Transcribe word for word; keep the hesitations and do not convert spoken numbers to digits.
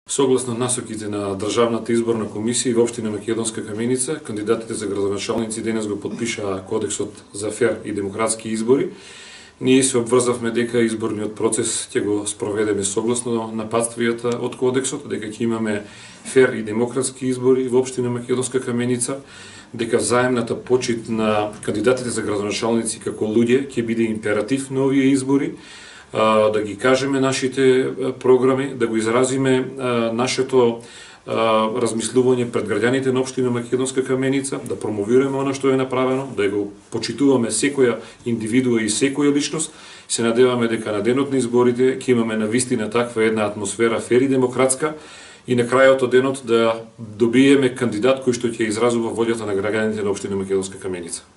Согласно насоките на Државната изборна комисија во општина Македонска Каменица, кандидатите за градоначалници денес го подпишаа Кодексот за фер и демократски избори. Ние се обврзавме дека изборниот процес ќе го спроведеме согласно напатствијата од Кодексот, дека ќе имаме фер и демократски избори во општина Македонска Каменица, дека взаемната почит на кандидатите за градоначалници како луѓе ќе биде императив на овие избори, да ги кажеме нашите програми, да го изразиме нашето размислување пред граѓаните на општина Македонска Каменица, да промовираме она што е направено, да го почитуваме секоја индивидуа и секоја личност. Се надеваме дека на денот на изборите ќе имаме навистина таква една атмосфера фер и демократска и на крајот од денот да добиеме кандидат кој што ќе изразува волјата на граѓаните на општина Македонска Каменица.